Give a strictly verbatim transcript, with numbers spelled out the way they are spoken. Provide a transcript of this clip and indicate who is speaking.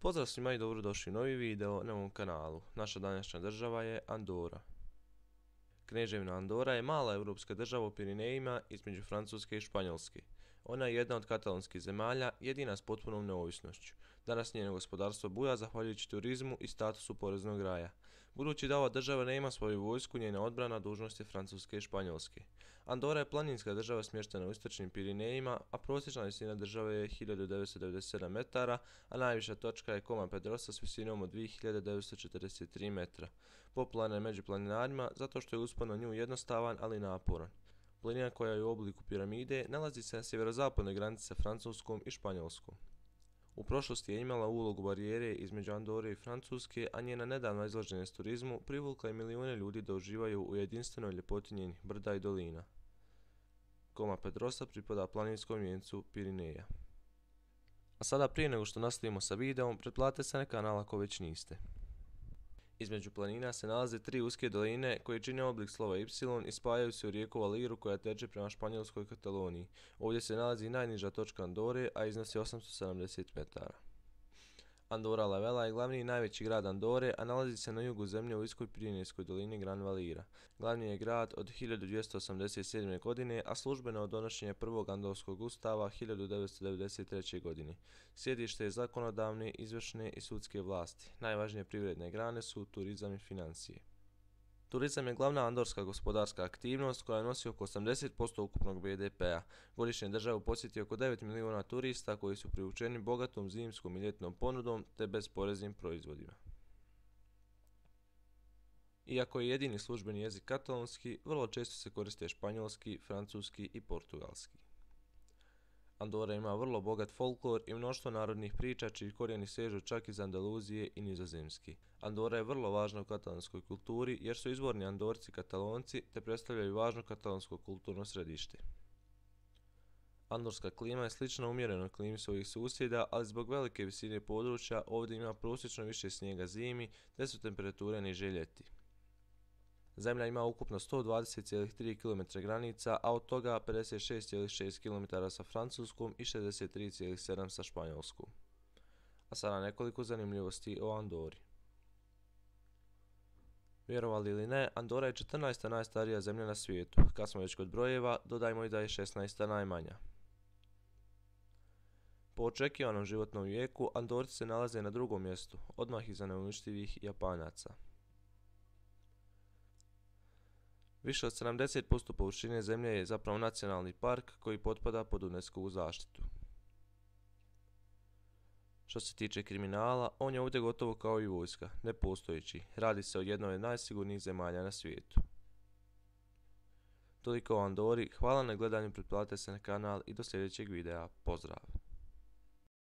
Speaker 1: Pozdrav svima i dobrodošli u novi video na ovom kanalu. Naša današnja država je Andora. Kneževina Andora je mala europska država u Pirinejima između Francuske i Španjolske. Ona je jedna od katalonskih zemalja, jedina s potpunom neovisnošću. Danas njeno gospodarstvo buja zahvaljujući turizmu i statusu poreznog raja. Budući da ova država nema svoju vojsku, njena odbrana dužnost je Francuske i Španjolske. Andora je planinska država smještena u istočnim Pirinejima, a prosječna visina države je hiljadu devetsto devedeset sedam metara, a najviša točka je Coma Pedrosa s visinom od dvije hiljade devetsto četrdeset tri metra. Popularna je među planinarima zato što je uspon na nju jednostavan, ali naporan. Planina koja je u obliku piramide nalazi se na sjeverozapodnoj granici sa Francuskom i Španjolskom. U prošlosti je imala ulogu barijere između Andore i Francuske, a njena nedavna izloženost turizmu privukla je milijune ljudi da uživaju u jedinstvenoj ljepoti njenih brda i dolina. Coma Pedrosa pripada planinskom vijencu Pirineja. A sada, prije nego što nastavimo sa videom, pretplatite se na kanal ako već niste. Između planina se nalaze tri uske doline koje čine oblik slova Y i spajaju se u rijeku Valiru koja teče prema španjolskoj Kataloniji. Ovdje se nalazi najniža točka Andore, a iznosi osamsto sedamdeset metara. Andorra la Vella je glavni i najveći grad Andore, a nalazi se na jugu zemlje u uskoj Pirinejskoj dolini Gran Valira. Glavni je grad od hiljadu dvjesto osamdeset sedme. godine, a službeno od donošenja prvog Andorskog ustava hiljadu devetsto devedeset treće. godine. Sjedište je zakonodavne, izvršne i sudske vlasti. Najvažnije privredne grane su turizam i financije. Turizam je glavna andorska gospodarska aktivnost koja nosi oko osamdeset posto ukupnog B D P-a. Godišnje državu posjeti oko devet milijuna turista koji su privučeni bogatom zimskom i ljetnom ponudom te bezporeznim proizvodima. Iako je jedini službeni jezik katalonski, vrlo često se koriste španjolski, francuski i portugalski. Andora ima vrlo bogat folklor i mnoštvo narodnih priča čiji korijeni sežu čak iz Andaluzije i Nizozemski. Andora je vrlo važna u katalonskoj kulturi jer su izvorni Andorci Katalonci te predstavljaju važno katalonsko kulturno središte. Andorska klima je slična umjerenoj klimi svojih susjeda, ali zbog velike visine područja ovdje ima prosječno više snijega zimi te su temperature niže ljeti. Zemlja ima ukupno sto dvadeset zarez tri kilometra granica, a od toga pedeset šest zarez šest kilometara sa Francuskom i šezdeset tri zarez sedam sa Španjolskom. A sada nekoliko zanimljivosti o Andori. Vjerovali ili ne, Andora je četrnaesta najstarija zemlja na svijetu. Kad smo već kod brojeva, dodajmo i da je šesnaesta najmanja. Po očekivanom životnom vijeku, Andorci se nalaze na drugom mjestu, odmah iza neuništivih Japanaca. Više od sedamdeset posto površine zemlje je zapravo nacionalni park koji potpada pod UNESCO-vu zaštitu. Što se tiče kriminala, on je ovdje gotovo kao i vojska, nepostojeći. Radi se o jednoj od najsigurnijih zemalja na svijetu. Toliko o Andori, hvala na gledanju, pretplatite se na kanal i do sljedećeg videa, pozdrav!